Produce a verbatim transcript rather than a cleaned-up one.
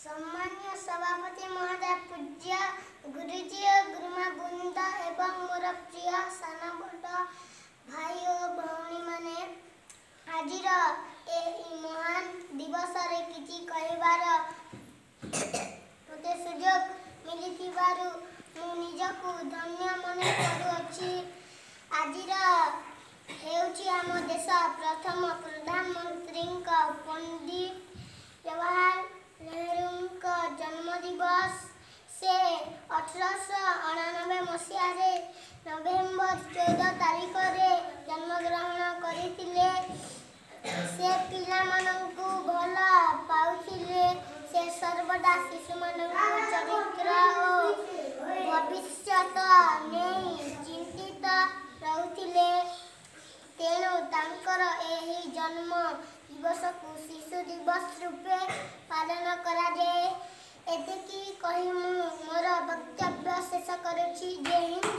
ସମ୍ମାନୀୟ ସଭାପତି ମହୋଦୟ, ପୂଜ୍ୟ ଗୁରୁଜୀ ଓ ଗୁରୁମା ବୃନ୍ଦ ଏବଂ ମୋର ପ୍ରିୟ ସାନ ବଡ଼ ଭାଇ ଓ ଭଉଣୀମାନେ, ଆଜିର ଏହି ମହାନ ଦିବସରେ କିଛି କହିବାର ମୋତେ ସୁଯୋଗ ମିଳିଥିବାରୁ ମୁଁ ନିଜକୁ ଧନ୍ୟ ମନେ କରୁଅଛି। ଆଜିର ହେଉଛି ଆମ ଦେଶ ପ୍ରଥମ ପ୍ରଧାନମନ୍ତ୍ରୀଙ୍କ ପଣ୍ଡିତ ଜବାହର ନେହେରୁଙ୍କ ଜନ୍ମ ଦିବସ। ସେ ଅଠରଶହ ଅଣାନବେ ମସିହାରେ ନଭେମ୍ବର ଚଉଦ ତାରିଖରେ ଜନ୍ମଗ୍ରହଣ କରିଥିଲେ। ସେ ପିଲାମାନଙ୍କୁ ଭଲ ପାଉଥିଲେ। ସେ ସର୍ବଦା ଶିଶୁମାନଙ୍କୁ ଚରିତ୍ର ଓ ଭବିଷ୍ୟତ ନେଇ ଚିନ୍ତିତ ରହୁଥିଲେ। ତେଣୁ ତାଙ୍କର ଏହି ଜନ୍ମ ଦିବସକୁ ଶିଶୁ ଦିବସ ରୂପେ ପାଳନ କରାଯାଏ। ଏତିକି କହି ମୁଁ ମୋର ବକ୍ତବ୍ୟ ଶେଷ କରୁଛି। ଜୟ ହିନ୍ଦ।